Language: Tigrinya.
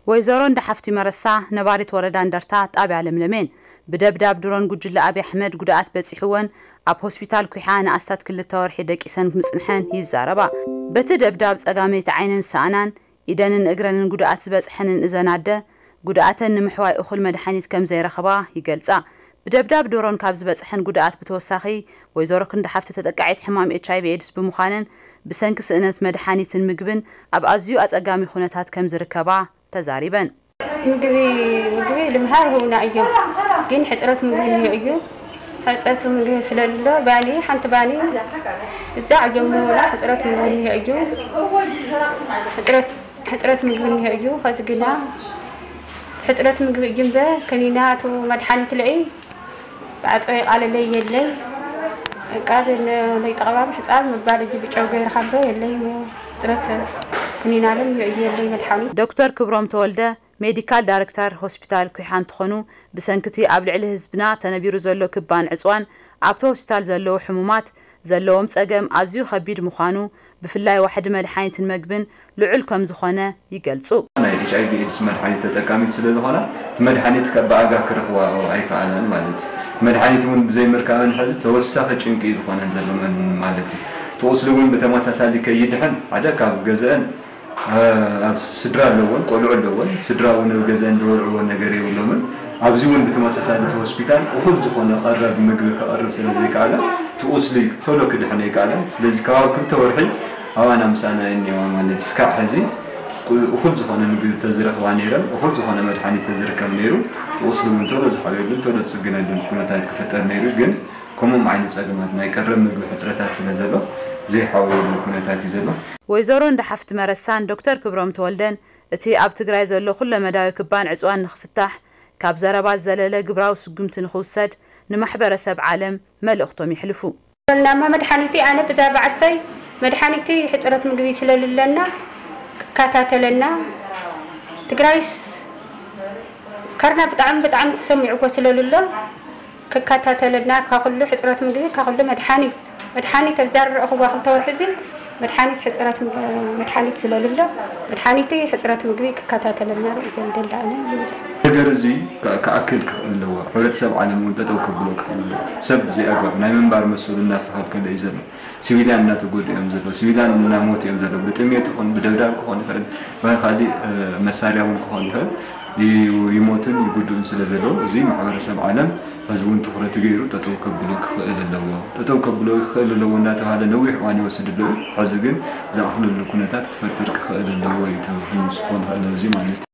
ወይዘሮ እንዳሓፍቲ መረሳ፣ ነባሪት ወረዳ እንደርታ፣ ጣብያ ለምለሜን፣ ብደብዳብ ድሮን ጉጅለ ኣብይ ኣሕመድ ጉድኣት በፂሕወን ኣብ ሆስፒታል ኩሓ ንኣስታት ክልተ ወርሒ ደቂሰን ምፅንሐን ይዛረባ። በቲ ደብዳብ ጸጋመይቲ ዓይነን ዝሰኣናን ኢደንን እግረንን ጉድኣት ዝበፅሐንን እዘን ኣደ፣ ጉድኣተን ንምሕዋይ እኹል መድሓኒት ከም ዘይረኽባ ይገልጻ። ብደብዳብ ድሮን ካብ ዝበፅሐን ጉድኣት ብተወሳኺ፣ ወይዘሮ ክንዳሓፍቲ ተጠቃዒት ሕማም ኤች ኣይ ቪ ኤድስ ብምዃነን፣ ብሰንኪ ስእነት መድሓኒትን ምግብን ኣብ ኣዝዩ ኣጸጋሚ ኩነታት ከም ዝርከባ ተዛሪበን። ምግቢ ምግቢ ልምሃር ህውና እዮም፣ ግን ሕፅረት ምግቢ እንዮ እዩ። ሕፅረት ምግቢ ስለሎ ባኒ ሓንቲ ባኒ እዛ እዮም ንህውና ሕፅረት ምግቢ እንዮ እዩ። ሕፅረት ሕፅረት ምግቢ እንዮ እዩ። ከዚ ግና ሕፅረት ምግቢ እዩ እምበር ከኒና እቲ መድሓኒት ለኢ ብዓፀ ቃለለይ የለይ። ቃል ለይጠቕባብ ሕፃን ምባል እዩ ብጨው ገይርካ እምበር የለይ። ሕፅረት ክኒናልን እንዮ እዩ የለይ መድሓኒት። ዶክተር ክብሮም ተወልደ፣ ሜዲካል ዳይሬክተር ሆስፒታል ኩሓ እንትኾኑ፣ ብሰንክቲ ኣብ ልዕሊ ህዝብና ተነቢሩ ዘሎ ክባን ዕፅዋን ኣብቲ ሆስፒታል ዘለዉ ሕሙማት ዘለዎም ፀገም ኣዝዩ ከቢድ ምዃኑ፣ ብፍላይ ዋሕዲ መድሓኒትን መግብን ልዑል ከም ዝኾነ ይገልፁ። ናይ ኤች ኣይ ቪ ኤድስ መድሓኒት ተጠቃሚት ስለ ዝኾና፣ እቲ መድሓኒት ከ ብኣጋ ክረኽባ ኣይከኣላን ማለት እዩ። መድሓኒት እውን ብዘይምርካበን ሕዚ ተወሳኺ ጭንቂ እዩ ዝኾነን ዘሎ መን-፣ ማለት እዩ። እቲ ቁስሊ እውን ብተመሳሳሊ ከይድሕን ሓደ ካብ ገዘአን ኣብ ስድራ ኣለወን፣ ቆልዑ ኣለወን፣ ስድራ እውን ኣብ ገዘአን ዝበልዕዎ ነገር የብሎምን። ኣብዚ እውን ብተመሳሳሊ እቲ ሆስፒታል እኹል ዝኾነ ቀረብ ምግቢ ከቐርብ ስለ ዘይከኣለ፣ እቲ ቁስሊ ቶሎ ክድሕን ኣይከኣለን። ስለዚ ከባቢ ክልተ ወርሒ ኣባና ምሳና እየን እኒዋ ማለት እዩ። እስካዕ ሕዚ ቁ-፣ እኹል ዝኾነ ምግቢ ተዝረኽባ ነይረን፣ እኹል ዝኾነ መድሓኒት ተዝርከብ ነይሩ፣ እቲ ቁስሊ እውን ቶሎ ዝሓውየሉን ቶሎ ዝፅገነሉን ኩነታት ክፍጠር ነይሩ። ግን ከምኦም ዓይነት ፀገማት ናይ ቀረብ ምግቢ ሕፅረታት ስለ ዘሎ ዘይሓውየሉ ኩነታት እዩ ዘሎ። ወይዘሮ እንዳሓፍቲ መረሳን ዶክተር ክብሮም ተወልደን፣ እቲ ኣብ ትግራይ ዘሎ ኩለመዳያዊ ክባን ዕፅዋን ንኽፍታሕ፣ ካብ ዘረባ ዝዘለለ ግብራዊ ስጉምቲ ንኽውሰድ ንማሕበረሰብ ዓለም መልእኽቶም የሕልፉ። ናማ መድሓኒቲ ኣነ ብዛ በዓልሰይ መድሓኒቲ ሕፅረት ምግቢ ስለልለና ክከታተለና፣ ትግራይስ ከርና ብጣዕሚ ብጣዕሚ ተሰሚዕዎ ስለልሎ ክከታተለና፣ ካብ ኩሉ ሕፅረት ምግቢ፣ ካብ ኩሉ መድሓኒት፣ መድሓኒት ኣብ ዘረእኽዋ ክልተ ወርሒ እዚ መድሓኒት ሕፅረት፣ መድሓኒት ስለልሎ፣ መድሓኒቲ ሕፅረት ምግቢ ክከታተለና ርእዮም ደላእነ ይብል። ነገር እዚ ከ-፣ ክኣክል ክኽእል ኣለዎ። ሕብረተሰብ ዓለም እውን ጠጠው ከብሎ ክኽእል ኣለዎ። ሰብ ብዘይ ኣግባብ ናይ ምንባር መሰሉ እናተኸልከለ እዩ ዘሎ። ሲቪልያን እናተጎድኡ እዮም ዘለዉ። ሲቪልያን እናሞቱ እዮም ዘለዉ። ብጥሜት ይኹን ብደብዳብ ክኾን ይኽእል፣ ብኻሊእ፣ እ፣ መሳርያ እውን ክኾን ይኽእል። ይ-፣ ይሞቱን ይጉድኡን ስለ ዘለዉ፣ እዚ ማሕበረሰብ ዓለም ሕዚ እውን ትኹረት ገይሩ ጠጠው ከብሎ ክኽእል ኣለዎ። ጠጠው ከብሎ ክኽእል ኣለዎ እናተባሃለ ነዊሕ እዋን ይወስድ ኣሎ እዩ። ሕዚ ግን ዝኣኽለሉ ኩነታት ክፈጥር ክኽእል ኣለዎ እዩ እቲ ክንስፎ ንኽእል እዚ ማለት እዩ።